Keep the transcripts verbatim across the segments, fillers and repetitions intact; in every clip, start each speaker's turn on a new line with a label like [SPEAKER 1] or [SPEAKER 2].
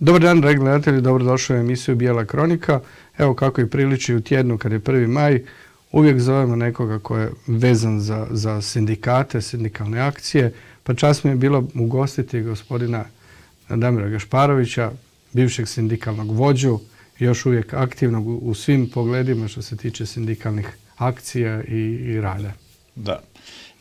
[SPEAKER 1] Dobar dan, dragi gledatelji, dobrodošli u emisiju Bijela kronika. Evo kako i priliči u tjednu kad je prvi maj, uvijek zovemo nekoga ko je vezan za, za sindikate, sindikalne akcije, pa čast mi je bilo ugostiti gospodina Damira Gašparovića, bivšeg sindikalnog vođu, još uvijek aktivnog u, u svim pogledima što se tiče sindikalnih akcija i, i rada.
[SPEAKER 2] Da.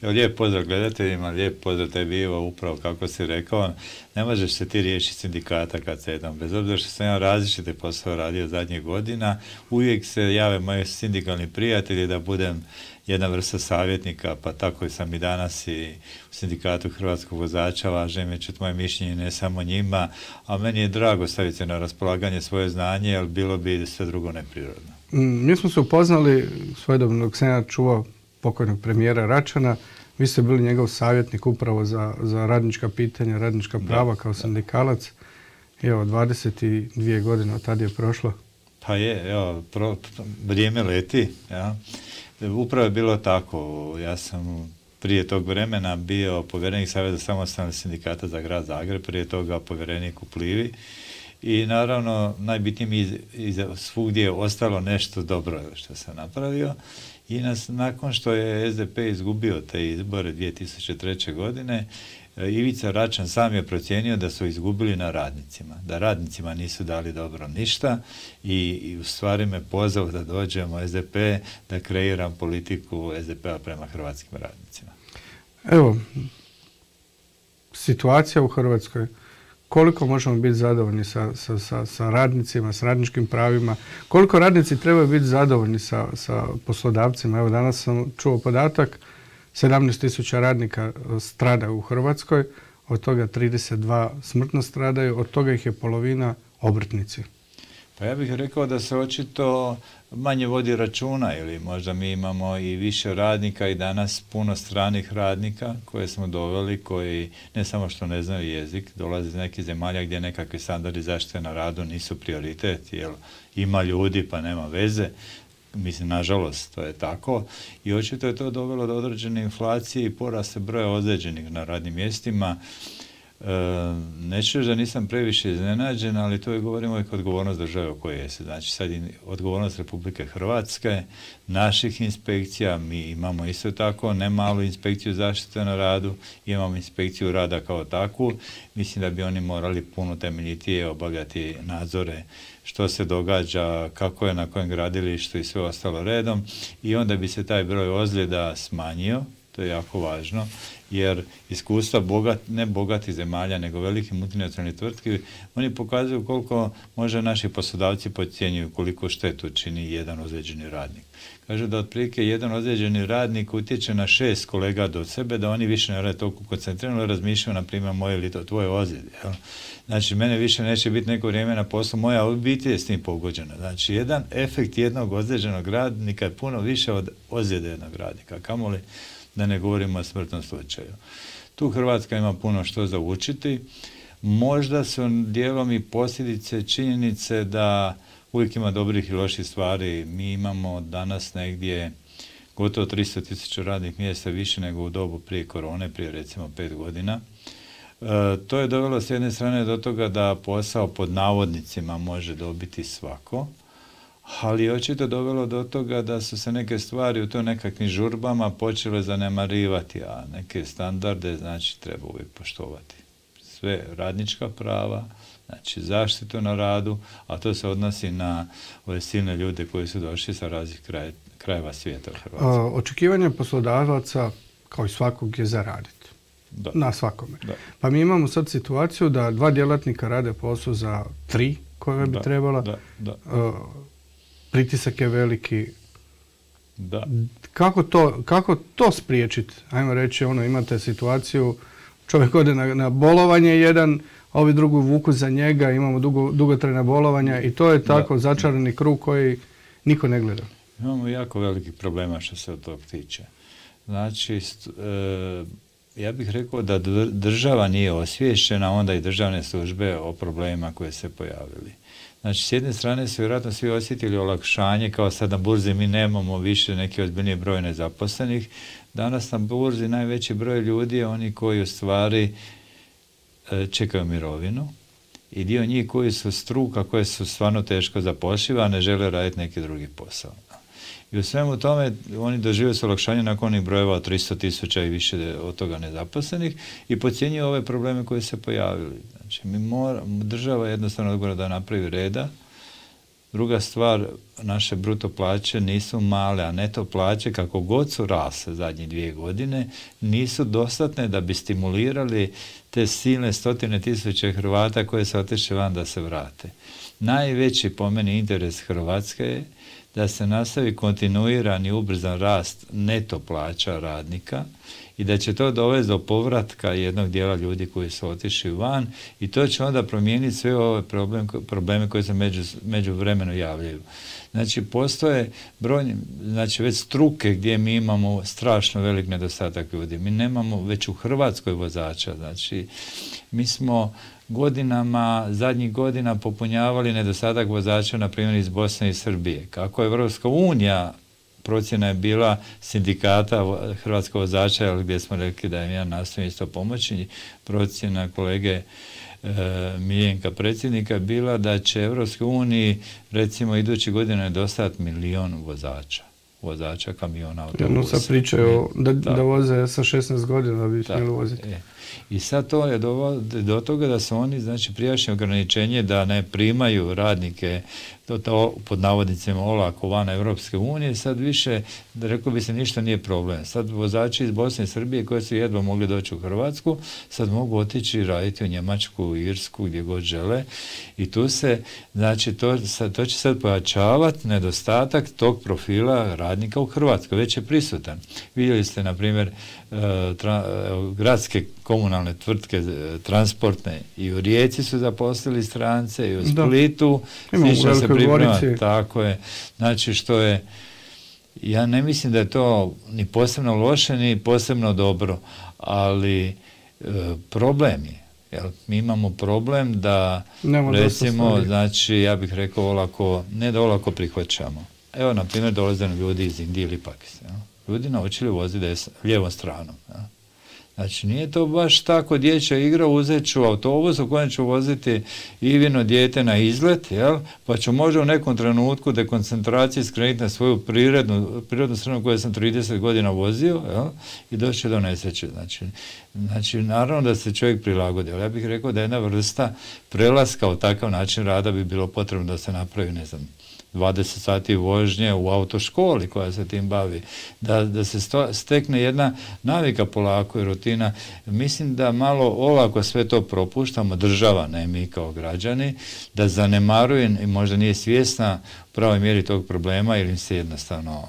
[SPEAKER 2] Lijep pozdrav gledateljima, lijep pozdrav tebi Ivo, upravo kako si rekao, ne možeš se ti riješiti sindikata kad se jednom, bez obzira što sam ja različite posao radio zadnjih godina, uvijek se jave moji sindikalni prijatelji da budem jedna vrsta savjetnika, pa tako i sam i danas i u sindikatu hrvatskog vozača, važno mi je čuti moje mišljenje, ne samo njima, a meni je drago staviti se na raspolaganje svoje znanje, jer bilo bi sve drugo neprirodno.
[SPEAKER 1] Mm, mi smo se upoznali svojedobno dok sam ja čuvao pokojnog premijera Račana. Vi ste bili njegov savjetnik upravo za, za radnička pitanja, radnička prava da, kao sindikalac. Evo, dvadeset dvije godine od tada je prošlo.
[SPEAKER 2] Pa je, evo, pro, vrijeme leti. Ja. Upravo je bilo tako. Ja sam prije tog vremena bio povjerenik Saveza samostalnih sindikata za grad Zagreb, prije toga povjerenik u Plivi. I naravno, najbitnije mi iz, iz, svugdje je ostalo nešto dobro što sam napravio. I nas, nakon što je es de pe izgubio te izbore dvije tisuće treće. godine, Ivica Račan sam je procijenio da su izgubili na radnicima, da radnicima nisu dali dobro ništa i, i u stvari me pozvao da dođem u es de pe, da kreiram politiku es de pe-a prema hrvatskim radnicima.
[SPEAKER 1] Evo, situacija u Hrvatskoj, koliko možemo biti zadovoljni sa, sa, sa, sa radnicima, s radničkim pravima, koliko radnici trebaju biti zadovoljni sa, sa poslodavcima. Evo, danas sam čuo podatak, sedamnaest tisuća radnika strada u Hrvatskoj, od toga trideset dva smrtno stradaju, od toga ih je polovina obrtnici.
[SPEAKER 2] Pa ja bih rekao da se očito manje vodi računa, ili možda mi imamo i više radnika i danas puno stranih radnika koje smo doveli, koji ne samo što ne znaju jezik, dolaze iz nekih zemalja gdje nekakvi standardi zaštite na radu nisu prioritet, jer ima ljudi pa nema veze. Mislim, nažalost, to je tako. I očito je to dovelo do određene inflacije i porasta broja ozlijeđenih na radnim mjestima. E, neću da nisam previše iznenađen, ali to je, govorimo, i odgovornost države o kojoj je se. Znači, sad je odgovornost Republike Hrvatske, naših inspekcija, mi imamo isto tako ne malu inspekciju zaštite na radu, imamo inspekciju rada kao takvu. Mislim da bi oni morali puno temeljitije obavljati nadzore što se događa, kako je na kojem gradilištu i sve ostalo redom, i onda bi se taj broj ozljeda smanjio. To je jako važno, jer iskustva bogat, ne bogatih zemalja, nego veliki multinacionalni tvrtki, oni pokazuju koliko može naši poslodavci podcjenjuju koliko štetu čini jedan ozlijeđeni radnik. Kažu da otprilike jedan ozlijeđeni radnik utječe na šest kolega do sebe, da oni više ne rade toliko koncentrirano, razmišljaju, na primjer, moje ili to tvoje ozljede. Jel? Znači, mene više neće biti neko vrijeme na poslu, moja obitelj je s tim pogođena. Znači, jedan efekt jednog ozlijeđenog radnika je puno više od ozljede jednog radnika, kamoli da ne govorimo o smrtnom slučaju. Tu Hrvatska ima puno što za učiti. Možda su dijelom i posljedice činjenice da uvijek ima dobrih i loših stvari. Mi imamo danas negdje gotovo tristo tisuća radnih mjesta više nego u dobu prije korone, prije recimo pet godina. E, to je dovelo s jedne strane do toga da posao pod navodnicima može dobiti svako, ali je očito dovelo do toga da su se neke stvari u to nekakvim žurbama počele zanemarivati, a neke standarde, znači, treba uvijek poštovati. Sve radnička prava, znači zaštitu na radu, a to se odnosi na ove silne ljude koji su došli sa raznih kraj, krajeva svijeta u Hrvatskoj.
[SPEAKER 1] Očekivanje poslodavaca, kao i svakog, je zaraditi.
[SPEAKER 2] Da.
[SPEAKER 1] Na svakome.
[SPEAKER 2] Da.
[SPEAKER 1] Pa mi imamo sad situaciju da dva djelatnika rade posao za tri koje bi
[SPEAKER 2] da,
[SPEAKER 1] trebala.
[SPEAKER 2] Da, da.
[SPEAKER 1] Uh, pritisak je veliki.
[SPEAKER 2] Da.
[SPEAKER 1] Kako to, kako to spriječiti? Ajmo reći, ono, imate situaciju, čovjek ode na, na bolovanje jedan, a ovi drugi vuku za njega, imamo dugo, dugotrajna bolovanja i to je tako da. Začarani krug koji niko ne gleda.
[SPEAKER 2] Imamo jako velikih problema što se od tog tiče. Znači, st, e, ja bih rekao da država nije osviješćena, onda i državne službe o problemima koje se pojavili. Znači, s jedne strane su vjerojatno svi osjetili olakšanje, kao sad na burzi mi nemamo više neki ozbiljniji broj nezaposlenih. Danas na burzi najveći broj ljudi je oni koji u stvari čekaju mirovinu i dio njih koji su struka, koje su stvarno teško zapošljive, a ne žele raditi neki drugi posao. I u svemu tome oni doživaju se olakšanje nakon onih brojeva od tristo tisuća i više od toga nezaposlenih i podcjenjuju ove probleme koji se pojavili. Znači, mi mora, država jednostavno odgovara da napravi reda. Druga stvar, naše bruto plaće nisu male, a neto plaće, kako god su rasle zadnje dvije godine, nisu dostatne da bi stimulirali te silne stotine tisuće Hrvata koje se otišli van da se vrate. Najveći po meni interes Hrvatske je da se nastavi kontinuirani ubrzan rast neto plaća radnika i da će to dovesti do povratka jednog dijela ljudi koji su otišli van i to će onda promijeniti sve ove problem, probleme koje se među, među vremenu javljaju. Znači, postoje brojni, znači već struke gdje mi imamo strašno velik nedostatak ljudi. Mi nemamo već u Hrvatskoj vozača, znači mi smo godinama, zadnjih godina popunjavali nedostatak vozača, na primjer iz Bosne i Srbije. Kako je Evropska unija, procjena je bila sindikata hrvatskog vozača, gdje smo rekli da im ja nastojim isto pomoći, procjena kolege e, Miljenka predsjednika bila da će Evropskoj uniji recimo idući godine nedostati milion vozača. vozača kamiona, autobusa.
[SPEAKER 1] Jedno sad pričaju da, da voze sa šesnaest godina da bi smjeli voziti.
[SPEAKER 2] E. I sad to je do, do toga da su oni, znači, prijašnje ograničenje da ne primaju radnike to, to pod navodnicima olako van Evropske unije, sad više, da rekao bi se, ništa nije problem. Sad vozači iz Bosne i Srbije koji su jedva mogli doći u Hrvatsku, sad mogu otići i raditi u Njemačku, u Irsku, gdje god žele. I tu se, znači, to, sad, to će sad pojačavati nedostatak tog profila radnika u Hrvatskoj. Već je prisutan. Vidjeli ste, na primjer, tra, gradske komunalne tvrtke transportne i u Rijeci su zaposlili strance i u Splitu.
[SPEAKER 1] Imamo se priprema,
[SPEAKER 2] tako je. Znači, što je, ja ne mislim da je to ni posebno loše, ni posebno dobro, ali e, problem je. Jel, mi imamo problem da, Nemo recimo, znači, ja bih rekao olako, ne da olako prihvaćamo. Evo, na primjer, dolaze nam ljudi iz Indije ili Pakistana. Ljudi naučili voziti des, lijevom stranom. Ja. Znači, nije to baš tako dječja igra, uzet ću autobus u kojem ću voziti Ivino dijete na izlet, jel? Pa ću možda u nekom trenutku dekoncentracije skrenuti na svoju prirodnu, prirodnu stranu koju sam trideset godina vozio, jel? I doći do nesreće. Znači, znači, naravno da se čovjek prilagodi, ali ja bih rekao da jedna vrsta prelaska od takav način rada bi bilo potrebno da se napravi, ne znam, dvadeset sati vožnje u autoškoli koja se tim bavi, da, da se sto, stekne jedna navika polako i rutina. Mislim da malo olako sve to propuštamo, država, ne mi kao građani, da zanemaruje i možda nije svjesna u pravoj mjeri tog problema ili im se jednostavno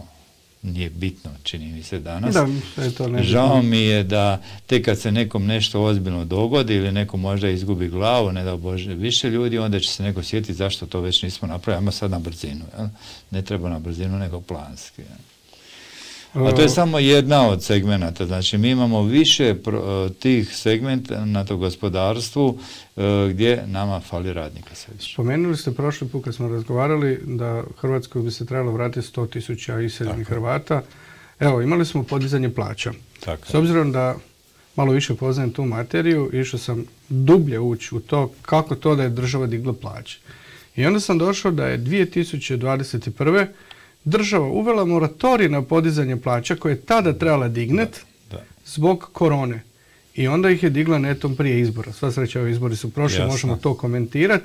[SPEAKER 2] nije bitno, čini mi se danas.
[SPEAKER 1] Da, je to ne
[SPEAKER 2] Žao mi je da tek kad se nekom nešto ozbiljno dogodi ili neko možda izgubi glavu, ne da Bože više ljudi, onda će se neko sjetiti zašto to već nismo napravili, ajmo sad na brzinu. Jel? Ne treba na brzinu, nego planski. Jel? A to je samo jedna od segmenata. Znači, mi imamo više pro, tih segmenta na to gospodarstvu gdje nama fali radnika sve više.
[SPEAKER 1] Spomenuli ste prošli put kad smo razgovarali da Hrvatskoj bi se trebalo vratiti sto tisuća iseljenih Hrvata. Evo, imali smo podizanje plaća.
[SPEAKER 2] Tako.
[SPEAKER 1] S obzirom da malo više poznajem tu materiju, išao sam dublje ući u to kako to da je država digla plaće. I onda sam došao da je dvije tisuće dvadeset prve država uvela moratorij na podizanje plaća koje je tada trebala dignet da, da. zbog korone. I onda ih je digla netom prije izbora. Sva sreća, ovi izbori su prošli, Jasno. možemo to komentirati.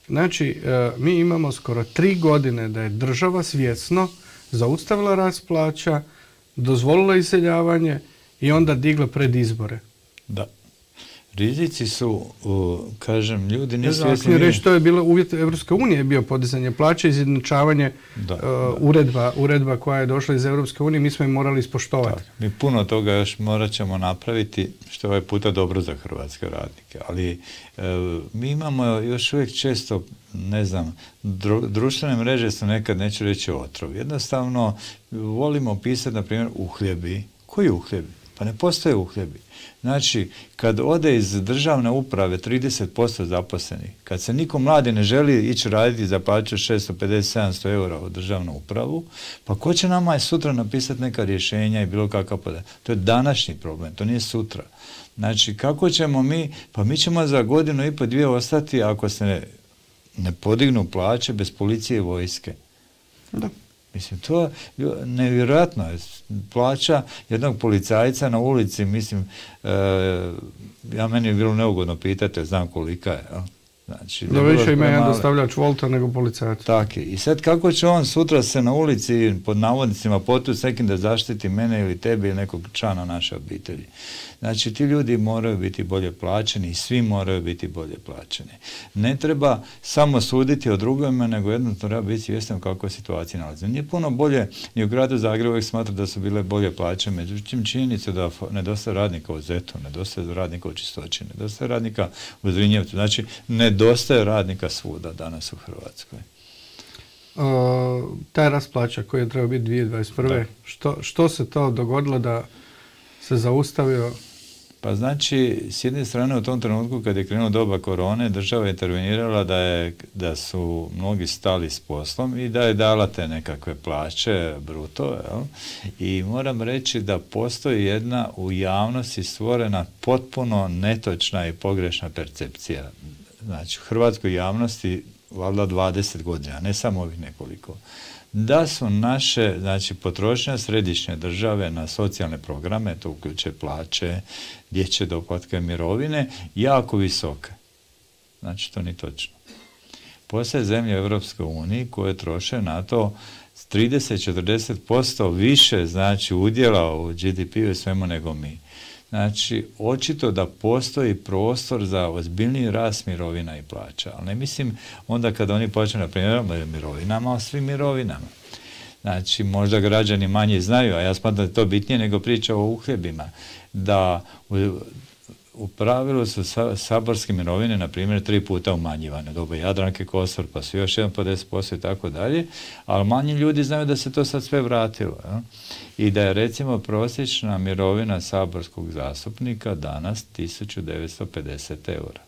[SPEAKER 1] Znači, e, mi imamo skoro tri godine da je država svjesno zaustavila rast plaća, dozvolila iseljavanje i onda digla pred izbore.
[SPEAKER 2] Da. Rizici su, uh, kažem, ljudi nisu
[SPEAKER 1] svjesni. Znači, reći, to je bilo uvjet Evropske unije, bio podizanje plaća, izjednačavanje uh, uredba, uredba koja je došla iz Evropske unije, mi smo im morali ispoštovati.
[SPEAKER 2] Tak, mi puno toga još morat ćemo napraviti, što je ovaj puta dobro za hrvatske radnike, ali uh, mi imamo još uvijek često, ne znam, dru, društvene mreže su nekad, neću reći, otrov. Jednostavno, volimo pisati, na primjer, uhljebi. Koji uhljebi? Pa ne postoje uhljebi. Znači, kad ode iz državne uprave trideset posto zaposlenih, kad se niko mladi ne želi ići raditi za plaću šesto pedeset do sedamsto eura u državnu upravu, pa ko će nama je sutra napisati neka rješenja i bilo kakav podatak? To je današnji problem, to nije sutra. Znači, kako ćemo mi, pa mi ćemo za godinu i po dvije ostati ako se ne, ne podignu plaće bez policije i vojske.
[SPEAKER 1] Da.
[SPEAKER 2] Mislim, to je nevjerojatno. Plaća jednog policajca na ulici, mislim, e, ja meni je bilo neugodno pitati, znam kolika je, jel? Znači,
[SPEAKER 1] da više ima jedan dostavljač Volta nego policajac.
[SPEAKER 2] Tako je. I sad kako će on sutra se na ulici pod navodnicima potući s nekim da zaštiti mene ili tebi ili nekog člana naše obitelji. Znači ti ljudi moraju biti bolje plaćeni i svi moraju biti bolje plaćeni. Ne treba samo suditi o drugima, nego jednostavno treba biti svjestan u kakvoj situaciji nalazi. Nije puno bolje, ni u gradu Zagrebu uvijek smatra da su bile bolje plaće, međutim činjenica da nedostaje radnika u Zetu, nedostaje radnika u Čistoći, nedostaje radnika u Zrinjevcu. Znači nedostaje radnika svuda danas u Hrvatskoj.
[SPEAKER 1] Uh, taj rast plaća koji je trebao biti dvije tisuće dvadeset prve. Što, što se to dogodilo da se zaustavio?
[SPEAKER 2] Pa znači, s jedne strane u tom trenutku kad je krenuo doba korone, država je intervenirala da, je, da su mnogi stali s poslom i da je dala te nekakve plaće, bruto, jel? I moram reći da postoji jedna u javnosti stvorena potpuno netočna i pogrešna percepcija. Znači, u hrvatskoj javnosti valjda dvadeset godina, ne samo ovih nekoliko, da su naše, znači, potrošnja središnje države na socijalne programe, to uključuje plaće, dječje doplatke, mirovine, jako visoke. Znači, to nije točno. Postoje zemlje u Europskoj uniji koje troše na to trideset do četrdeset posto više, znači, udjela u G D P-u i svemu nego mi. Znači, očito da postoji prostor za ozbiljniji rast mirovina i plaća. Ali ne mislim onda kada oni počnu, na primjer, mirovinama, o svim mirovinama. Znači, možda građani manje znaju, a ja smatram da je to bitnije nego priča o uhljebima. Da u, u pravilu su sa, saborske mirovine, na primjer, tri puta umanjivane. Doba Jadranke Kosor, pa su još jedan po deset posto i tako dalje. Ali manji ljudi znaju da se to sad sve vratilo. Ja? I da je recimo prosječna mirovina saborskog zastupnika danas tisuću devetsto pedeset eura.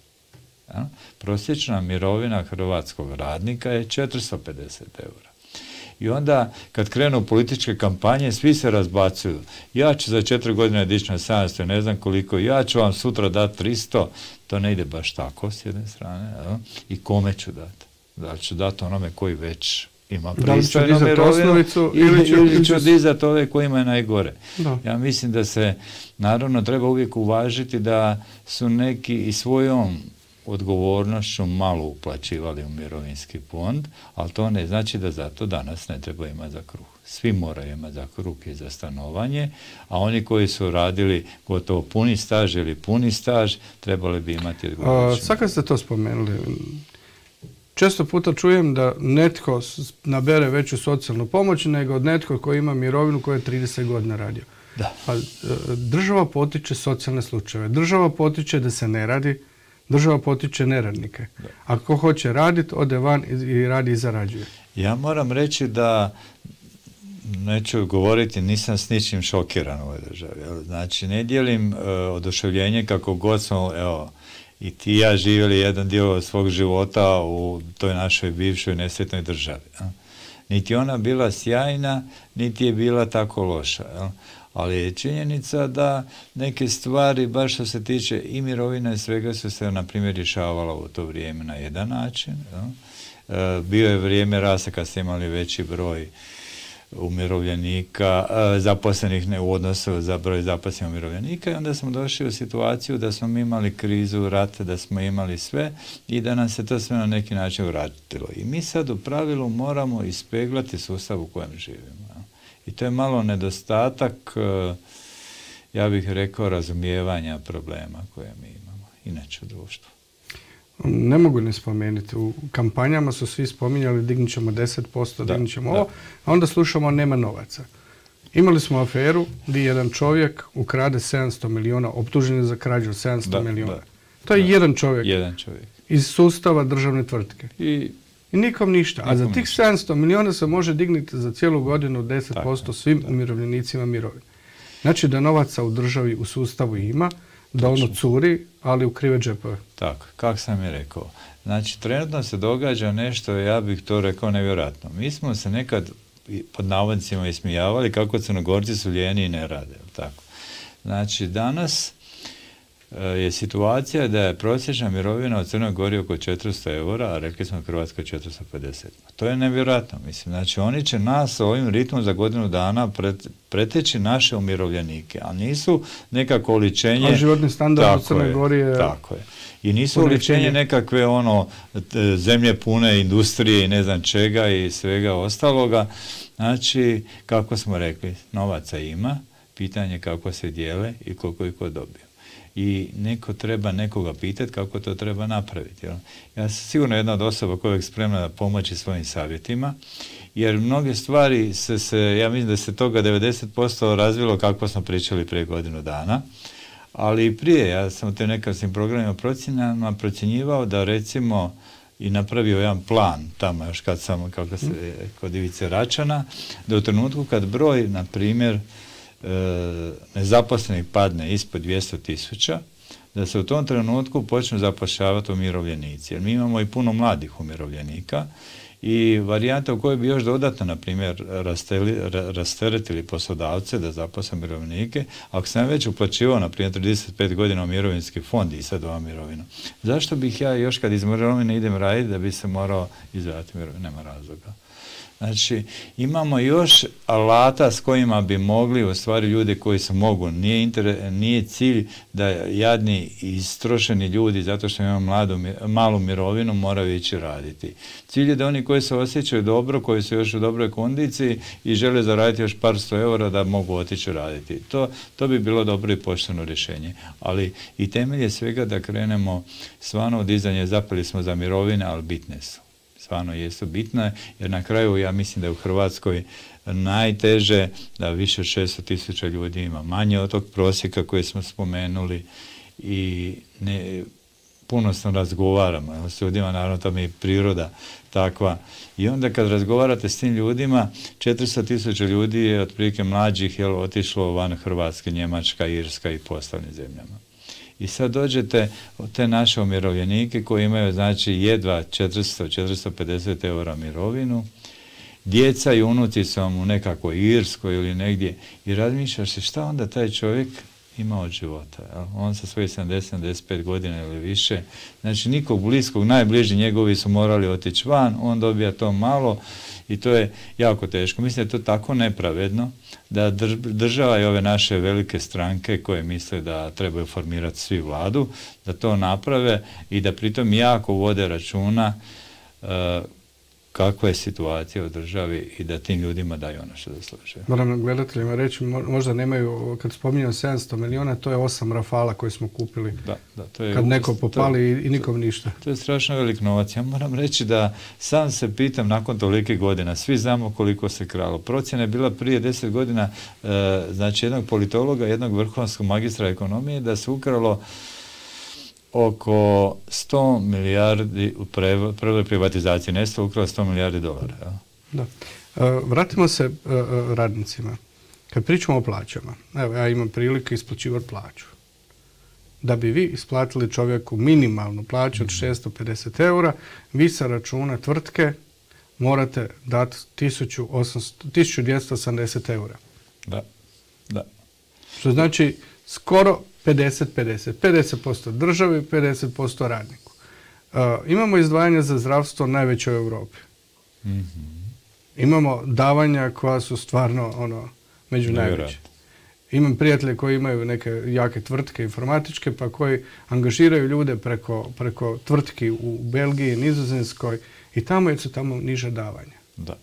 [SPEAKER 2] Ja? Prosječna mirovina hrvatskog radnika je četiristo pedeset eura. I onda kad krenu političke kampanje, svi se razbacuju. Ja ću za četiri godine dići na sedamsto, ne znam koliko, ja ću vam sutra dati tristo, to ne ide baš tako s jedne strane. Ja? I kome ću dati? Da ću dati onome koji već ima pristojnu mirovinu ili, ili ću dizati ove kojima je najgore. Da. Ja mislim da se naravno treba uvijek uvažiti da su neki i svojom odgovornošću malo uplaćivali u mirovinski fond, ali to ne znači da zato danas ne treba imati za kruh. Svi moraju imati za kruh i za stanovanje, a oni koji su radili gotovo puni staž ili puni staž, trebali bi imati odgovornošću.
[SPEAKER 1] Sad kad ste to spomenuli, često puta čujem da netko nabere veću socijalnu pomoć nego od netko koji ima mirovinu koja je trideset godina radio.
[SPEAKER 2] Da.
[SPEAKER 1] Pa, država potiče socijalne slučajeve. Država potiče da se ne radi, država potiče neradnike. Da. Ako hoće raditi, ode van i radi i zarađuje.
[SPEAKER 2] Ja moram reći da, neću govoriti, nisam s ničim šokiran u ovoj državi. Znači, ne dijelim uh, oduševljenje kako god smo, evo, i ti i ja živjeli jedan dio svog života u toj našoj bivšoj nesretnoj državi. Ja. Niti ona bila sjajna, niti je bila tako loša. Ja. Ali je činjenica da neke stvari, baš što se tiče i mirovina i svega, su se, na primjer, rješavala u to vrijeme na jedan način. Ja. E, bio je vrijeme rasta kad ste imali veći broj umirovljenika, zaposlenih ne u odnosu za broj zaposlenih umirovljenika, i onda smo došli u situaciju da smo imali krizu, rat, da smo imali sve i da nam se to sve na neki način vratilo. I mi sad u pravilu moramo ispeglati sustav u kojem živimo. I to je malo nedostatak, ja bih rekao, razumijevanja problema koje mi imamo, inače u društvu.
[SPEAKER 1] Ne mogu ne spomenuti. U kampanjama su svi spominjali dignut ćemo deset posto,
[SPEAKER 2] da,
[SPEAKER 1] dignut ćemo
[SPEAKER 2] da.
[SPEAKER 1] ovo, a onda slušamo nema novaca. Imali smo aferu gdje jedan čovjek ukrade sedamsto milijuna, optužen je za krađu sedamsto
[SPEAKER 2] da,
[SPEAKER 1] milijuna.
[SPEAKER 2] Da,
[SPEAKER 1] to je
[SPEAKER 2] da,
[SPEAKER 1] jedan čovjek,
[SPEAKER 2] jedan čovjek
[SPEAKER 1] iz sustava državne tvrtke.
[SPEAKER 2] I,
[SPEAKER 1] I nikom ništa.
[SPEAKER 2] Nikom
[SPEAKER 1] a za tih
[SPEAKER 2] ništa.
[SPEAKER 1] sedamsto milijuna se može dignuti za cijelu godinu deset posto
[SPEAKER 2] tako,
[SPEAKER 1] svim
[SPEAKER 2] da.
[SPEAKER 1] umirovljenicima mirovine. Znači da novaca u državi, u sustavu ima, da ono curi, ali u krive džepove.
[SPEAKER 2] Tako, kako sam i rekao. Znači, trenutno se događa nešto, ja bih to rekao, nevjerojatno. Mi smo se nekad pod navodnicima ismijavali kako Crnogorci su lijeni i ne rade. Tako. Znači, danas je situacija da je prosječna mirovina u Crnoj Gori oko četiristo eura, a rekli smo u Hrvatskoj četiristo pedeset. To je nevjerojatno, mislim. Znači, oni će nas ovim ritmom za godinu dana pret, preteći naše umirovljenike, a nisu nekako oličenje...
[SPEAKER 1] A životni standard u Crnoj Gori je...
[SPEAKER 2] Tako je. I nisu oličenje nekakve ono zemlje pune industrije i ne znam čega i svega ostaloga. Znači, kako smo rekli, novaca ima, pitanje kako se dijele i koliko ih ko dobije. I neko treba nekoga pitati kako to treba napraviti. Jel? Ja sam sigurno jedna od osoba koja je spremna da pomoći svojim savjetima, jer mnoge stvari se, se, ja mislim da se toga devedeset posto razvilo kako smo pričali prije godinu dana, ali i prije, ja sam u te nekakvim programima procjenama procjenjivao da recimo i napravio jedan plan tamo još kad sam, kako se, kod Ivice Račana, da u trenutku kad broj, na primjer, nezaposlenih padne ispod dvjesto tisuća, da se u tom trenutku počnu zapošljavati umirovljenici. Jer mi imamo i puno mladih umirovljenika i varijanta u kojoj bi još dodatno, na primjer, rasteretili poslodavce da zaposle umirovljenike, ako sam već uplaćivao, na primjer, trideset pet godina u mirovinski fond i sad ova mirovina, zašto bih ja još kad iz mirovine idem raditi da bi se morao izdvajati mirovinu? Nema razloga. Znači, imamo još alata s kojima bi mogli, u stvari ljudi koji se mogu, nije, inter, nije cilj da jadni i istrošeni ljudi, zato što imaju mladu, malu mirovinu, moraju ići raditi. Cilj je da oni koji se osjećaju dobro, koji su još u dobroj kondiciji i žele zaraditi još par sto eura, da mogu otići raditi. To, to bi bilo dobro i pošteno rješenje. Ali i temelj je svega da krenemo stvarno u dizanje, zapeli smo za mirovine, ali bitne su. Stvarno jesu bitne, jer na kraju ja mislim da je u Hrvatskoj najteže da više od šesto tisuća ljudi ima manje od tog prosjeka koji smo spomenuli i ne, puno sam razgovaramo s ljudima, naravno to mi je priroda takva. I onda kad razgovarate s tim ljudima, četiristo tisuća ljudi je otprilike mlađih jel, otišlo van Hrvatske, Njemačka, Irska i po ostalim zemljama. I sad dođete od te naše umirovljenike koji imaju znači jedva četiristo do četiristo pedeset eura mirovinu, djeca i unuci su vam u nekakvoj Irskoj ili negdje i razmišljaš se šta onda taj čovjek ima od života. Jel? On sa svojih sedamdeset do sedamdeset pet godina ili više, znači nikog bliskog, najbliži njegovi su morali otići van, on dobija to malo i to je jako teško. Mislim da je to tako nepravedno da država i ove naše velike stranke koje misle da trebaju formirati svi vladu, da to naprave i da pritom jako vode računa uh, kakva je situacija u državi i da tim ljudima daju ono što zaslužuju.
[SPEAKER 1] Moram gledateljima reći, možda nemaju, kad spominjam sedamsto milijuna, to je osam Rafala koje smo kupili. Da, da, to je, kad neko popali to, i nikom ništa.
[SPEAKER 2] To je strašno velik novac. Ja moram reći da sam se pitam nakon tolikih godina, svi znamo koliko se kralo. Procjena je bila prije deset godina, e, znači jednog politologa, jednog vrhunskog magistra ekonomije, da se ukralo oko sto milijardi u prvoj privatizaciji. Nesto ukralo sto milijardi dolara. Ja?
[SPEAKER 1] Da. E, vratimo se e, radnicima. Kad pričamo o plaćama, evo ja imam prilike isplaćivati plaću. Da bi vi isplatili čovjeku minimalnu plaću od šesto pedeset eura, vi sa računa tvrtke morate dati tisuću dvjesto osamdeset eura.
[SPEAKER 2] Da, da.
[SPEAKER 1] Što znači skoro pedeset pedeset. pedeset posto državi, pedeset posto radniku. Uh, imamo izdvajanja za zdravstvo najveće u Europi. Mm-hmm. Imamo davanja koja su stvarno ono, među najveće. Imam prijatelje koji imaju neke jake tvrtke informatičke, pa koji angažiraju ljude preko, preko tvrtki u Belgiji, Nizozemskoj i tamo su tamo niže davanja.
[SPEAKER 2] Da.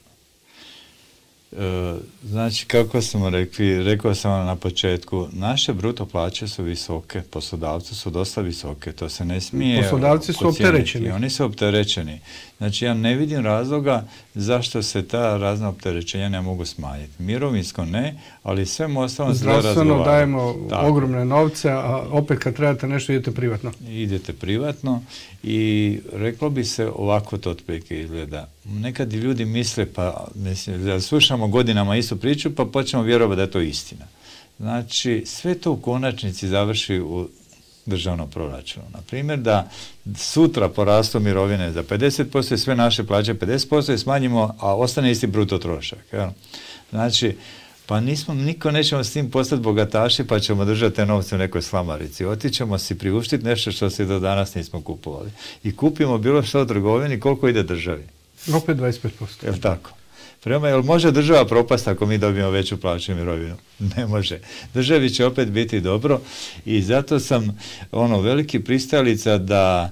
[SPEAKER 2] E, znači, kako smo rekli, rekao sam vam na početku, naše bruto plaće su visoke, poslodavci su dosta visoke, to se ne smije...
[SPEAKER 1] Poslodavci su opterećeni.
[SPEAKER 2] Oni su opterećeni. Znači, ja ne vidim razloga zašto se ta razna opterećenja ne mogu smanjiti. Mirovinsko ne, ali sve ostalom se da razgovarati.
[SPEAKER 1] Zdravstveno dajemo tako ogromne novce, a opet kad trebate nešto idete privatno.
[SPEAKER 2] Idete privatno i reklo bi se ovako to otprilike izgleda. Nekad ljudi misle, pa mislim, da slušamo godinama istu priču, pa počnemo vjerovati da je to istina. Znači, sve to u konačnici završi u državnom proračunu. Na primjer, da sutra porastu mirovine za pedeset posto i sve naše plaće pedeset posto i smanjimo, a ostane isti bruto trošak. Jel? Znači, Pa nismo, niko nećemo s tim postati bogataši pa ćemo držati te novce u nekoj slamarici. Otićemo si priuštiti nešto što se do danas nismo kupovali. I kupimo bilo što u trgovini, koliko ide državi.
[SPEAKER 1] Opet dvadeset pet posto.
[SPEAKER 2] Jel tako? Prema, jel može država propasti ako mi dobijemo veću plaću i mirovinu? Ne može. Državi će opet biti dobro i zato sam ono veliki pristalica da,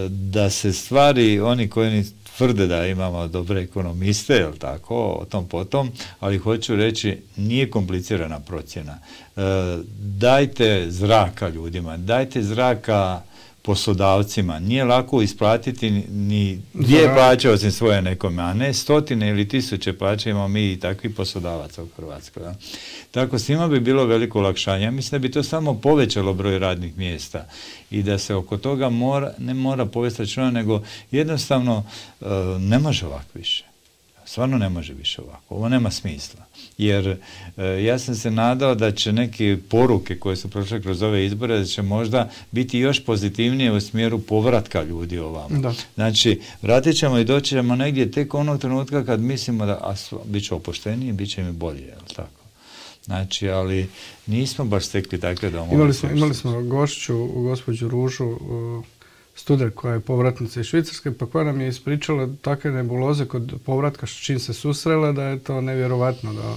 [SPEAKER 2] da se stvari, oni koji tvrde da imamo dobre ekonomiste, jel tako, o tom potom, ali hoću reći, nije komplicirana procjena. E, dajte zraka ljudima, dajte zraka poslodavcima. Nije lako isplatiti ni dvije plaće osim svoje nekome, a ne stotine ili tisuće plaće imamo mi i takvih poslodavaca u Hrvatskoj. Ja. Tako svima bi bilo veliko olakšanje. Ja mislim da bi to samo povećalo broj radnih mjesta i da se oko toga mora, ne mora povesti računa, nego jednostavno uh, ne može ovako više. Stvarno ne može više ovako. Ovo nema smisla. Jer e, ja sam se nadao da će neke poruke koje su prošle kroz ove izbore, da će možda biti još pozitivnije u smjeru povratka ljudi ovamo. Da. Znači, vratit ćemo i doći ćemo negdje tek onog trenutka kad mislimo da a, bit će opušteniji, bit će mi bolje, jel tako? Znači, ali nismo baš stekli takve domove.
[SPEAKER 1] Imali smo, imali smo gošću, gospođu Ružu, uh, student koja je povratnica iz Švicarske, pa koja nam je ispričala takve nebuloze kod povratka s čim se susrela, da je to nevjerovatno, da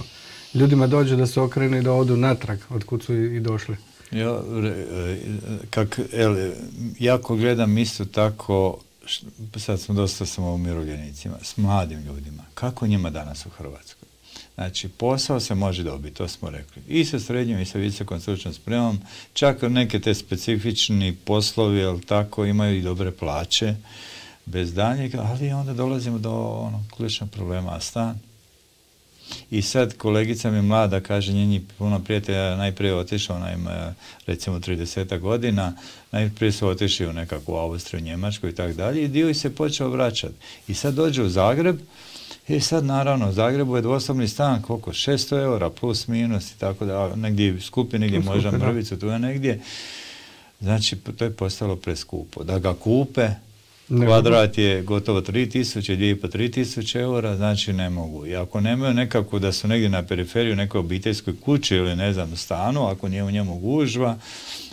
[SPEAKER 1] ljudima dođe da se okrenu i da odu natrag od kud su i došli.
[SPEAKER 2] Ja, kak, el, jako gledam isto tako, sad smo dosta samo umirovljenicima, s mladim ljudima. Kako njima danas u Hrvatskoj? Znači, posao se može dobiti, to smo rekli. I sa srednjom i sa visokom stručnom spremom, čak neke te specifični poslovi, ali tako, imaju i dobre plaće, bez daljnjeg, ali onda dolazimo do ono, ključnog problema, a stan. I sad kolegica mi mlada, kaže, njeni puno prijatelja najprije otišao, ona ima recimo trideset godina, najprije su otišli u nekakvu Austriju, Njemačku i tako dalje, i dio ih se počeo vraćati. I sad dođe u Zagreb, i sad naravno u Zagrebu je dvosobni stan, koliko? šesto eura plus minus i tako da, negdje skupi, negdje možda mrvicu, tu je negdje. Znači, to je postalo preskupo. Da ga kupe, ne kvadrat je gotovo tri tisuće, dvije i po tri tisuće eura, znači ne mogu. I ako nemaju nekako da su negdje na periferiju u nekoj obiteljskoj kući ili ne znam stanu, ako nije u njemu gužva,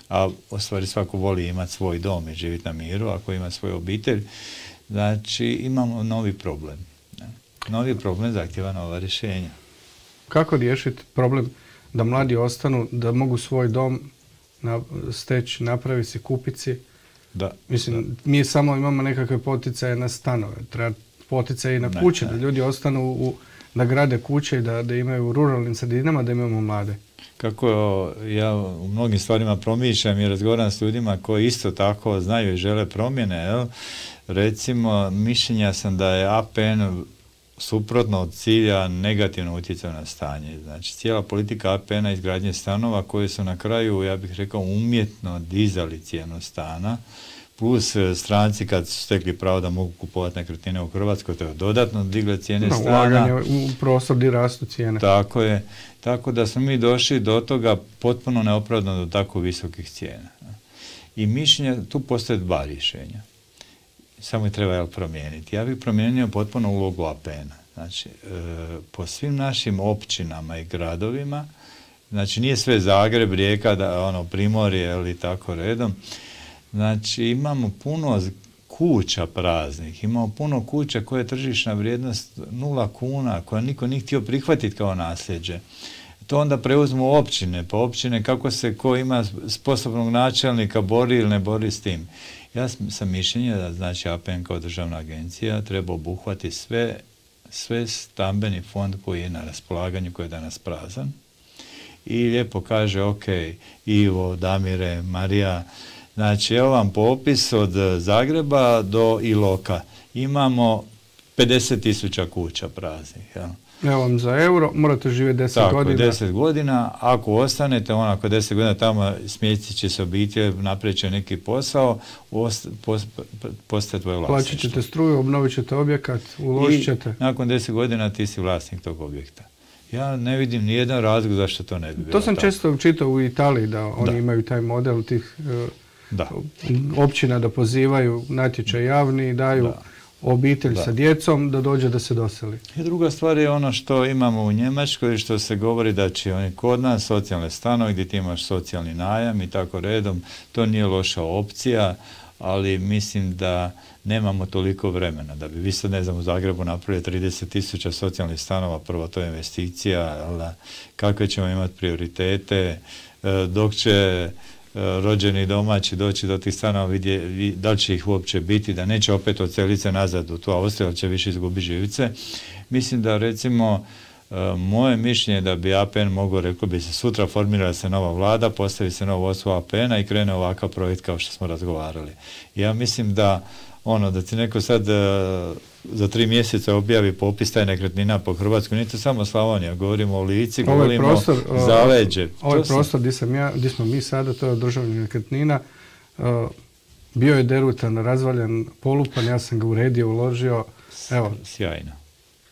[SPEAKER 2] a u stvari svako voli imati svoj dom i živjeti na miru, ako ima svoju obitelj, znači imamo novi problem. Novi problem zahtjeva nova rješenja.
[SPEAKER 1] Kako riješiti problem da mladi ostanu, da mogu svoj dom na, steći, napraviti si, kupiti si?
[SPEAKER 2] Da.
[SPEAKER 1] Mislim,
[SPEAKER 2] da.
[SPEAKER 1] mi samo imamo nekakve poticaje na stanove, treba poticaje i na kuće, ne, ne. Da ljudi ostanu, u, da grade kuće i da, da imaju u ruralnim sredinama, da imamo mlade.
[SPEAKER 2] Kako ja u mnogim stvarima promišljam i razgovaram s ljudima koji isto tako znaju i žele promjene, jel? Recimo, mišljenja sam da je A P N suprotno od cilja negativno utjecao na stanje. Znači, cijela politika A P N-a izgradnje stanova koje su na kraju, ja bih rekao, umjetno dizali cijenu stana, plus stranci kad su stekli pravo da mogu kupovati nekretnine u Hrvatskoj, to je dodatno digle cijene no, stana.
[SPEAKER 1] Ulaganje u prostor gdje rastu cijene.
[SPEAKER 2] Tako je. Tako da smo mi došli do toga potpuno neopravdano do tako visokih cijena. I mišljenja, tu postoje dva rješenja. Samo je treba jel, promijeniti. Ja bih promijenio potpuno ulogu A P N-a. Znači, e, po svim našim općinama i gradovima, znači nije sve Zagreb, Rijeka, da, ono, Primorje ili tako redom, znači imamo puno kuća praznih, imamo puno kuća koje je tržišna vrijednost nula kuna, koja niko nije htio prihvatiti kao nasljeđe. To onda preuzmu općine, pa općine kako se ko ima sposobnog načelnika bori ili ne bori s tim. Ja sam mišljenja da znači A P N kao državna agencija treba obuhvati sve, sve stambeni fond koji je na raspolaganju, koji je danas prazan. I lijepo kaže, ok, Ivo, Damire, Marija, znači evo vam popis od Zagreba do Iloka. Imamo pedeset tisuća kuća praznih, jel?
[SPEAKER 1] Evo vam za euro, morate živjeti deset
[SPEAKER 2] Tako,
[SPEAKER 1] godina.
[SPEAKER 2] Tako, deset godina. Ako ostanete, onako deset godina tamo smjestit će se obitelj, napravit će neki posao, ost, post, postaje tvoje vlasništvo.
[SPEAKER 1] Plaćat ćete struju, obnovit ćete objekat, uložit ćete.
[SPEAKER 2] I nakon deset godina ti si vlasnik tog objekta. Ja ne vidim nijedan razlog zašto to ne bi bilo.
[SPEAKER 1] To sam
[SPEAKER 2] tako.
[SPEAKER 1] često čitao u Italiji, da oni da. imaju taj model tih uh, da. općina da pozivaju natječaj javni i daju da. obitelj
[SPEAKER 2] Da.
[SPEAKER 1] sa djecom, da dođe da se doseli.
[SPEAKER 2] I druga stvar je ono što imamo u Njemačkoj, što se govori da će oni kod nas socijalne stanove gdje ti imaš socijalni najam i tako redom, to nije loša opcija, ali mislim da nemamo toliko vremena. Da bi vi sad, ne znam, u Zagrebu napravili trideset tisuća socijalnih stanova, prvo to je investicija, ali kakve ćemo imati prioritete, dok će rođeni domaći doći do tih stanova, vidje, da li će ih uopće biti, da neće opet odseliti se nazad u tu Austriju, ali će više izgubiti živice. Mislim da, recimo, moje mišljenje da bi A P N mogao, rekao bi se, sutra formirala se nova vlada, postavi se novo vodstvo A P N-a i krene ovakav projekt kao što smo razgovarali. Ja mislim da ono, da ti neko sad uh, za tri mjeseca objavi popis taj nekretnina po Hrvatskoj, nije to samo Slavonija, govorimo o Lici,
[SPEAKER 1] Ovaj
[SPEAKER 2] govorimo
[SPEAKER 1] prostor,
[SPEAKER 2] o Zaleđe.
[SPEAKER 1] Ovaj
[SPEAKER 2] to
[SPEAKER 1] prostor gdje sam ja, gdje smo mi sada, to je državnih nekretnina, uh, bio je derutan, razvaljan, polupan, ja sam ga uredio, uložio, evo,
[SPEAKER 2] sjajno.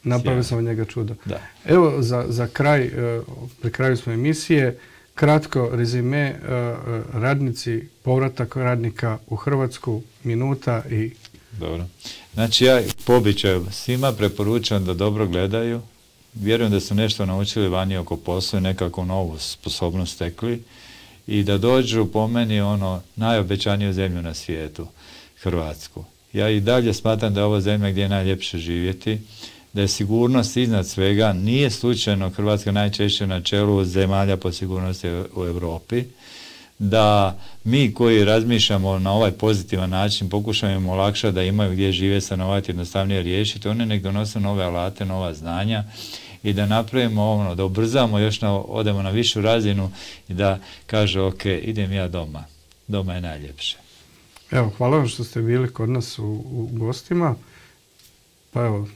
[SPEAKER 1] Napravio sam od njega čudo.
[SPEAKER 2] Da.
[SPEAKER 1] Evo, za, za kraj, uh, pri kraju smo emisije, kratko rezime, uh, radnici, povratak radnika u Hrvatsku, minuta i...
[SPEAKER 2] Dobro. Znači, ja po običaju svima preporučujem da dobro gledaju. Vjerujem da su nešto naučili vani oko posla i nekako novu sposobnost stekli i da dođu po meni ono najobećaniju zemlju na svijetu, Hrvatsku. Ja i dalje smatram da je ovo zemlja gdje je najljepše živjeti, da je sigurnost iznad svega, nije slučajno Hrvatska najčešće na čelu zemalja po sigurnosti u Europi, da mi koji razmišljamo na ovaj pozitivan način pokušamo im olakšati da imaju gdje žive, stanovati, jednostavnije riješiti, oni nek donose nove alate, nova znanja i da napravimo ono, da ubrzamo još, na, odemo na višu razinu i da kaže ok, idem ja doma, doma je najljepše.
[SPEAKER 1] Evo, hvala vam što ste bili kod nas u, u gostima, pa evo,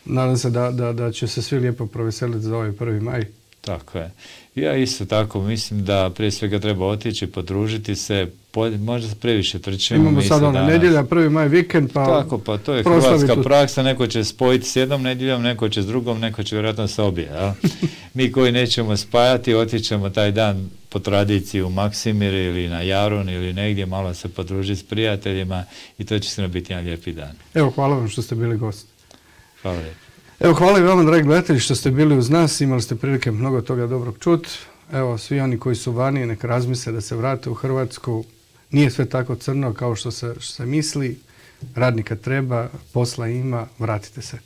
[SPEAKER 1] nadam se da, da, da će se svi lijepo proveseliti za ovaj prvi maj.
[SPEAKER 2] Tako je. Ja isto tako mislim da prije svega treba otići, podružiti se, možda se previše trčimo.
[SPEAKER 1] Imamo sad ono nedjelja, prvi maj vikend, pa...
[SPEAKER 2] Tako, pa to je hrvatska praksa, neko će spojiti s jednom nedjeljom, neko će s drugom, neko će vjerojatno s obje. Ja? Mi koji nećemo spajati, otićemo taj dan po tradiciji u Maksimir ili na Jarun ili negdje, malo se podružiti s prijateljima i to će se biti jedan lijepi dan.
[SPEAKER 1] Evo, hvala vam što ste bili gost.
[SPEAKER 2] Hvala lijepo.
[SPEAKER 1] Evo, hvala i vama, dragi gledatelji, što ste bili uz nas, imali ste prilike mnogo toga dobrog čut. Evo, svi oni koji su vani, nek razmisle da se vrate u Hrvatsku. Nije sve tako crno kao što se, što se misli. Radnika treba, posla ima, vratite se.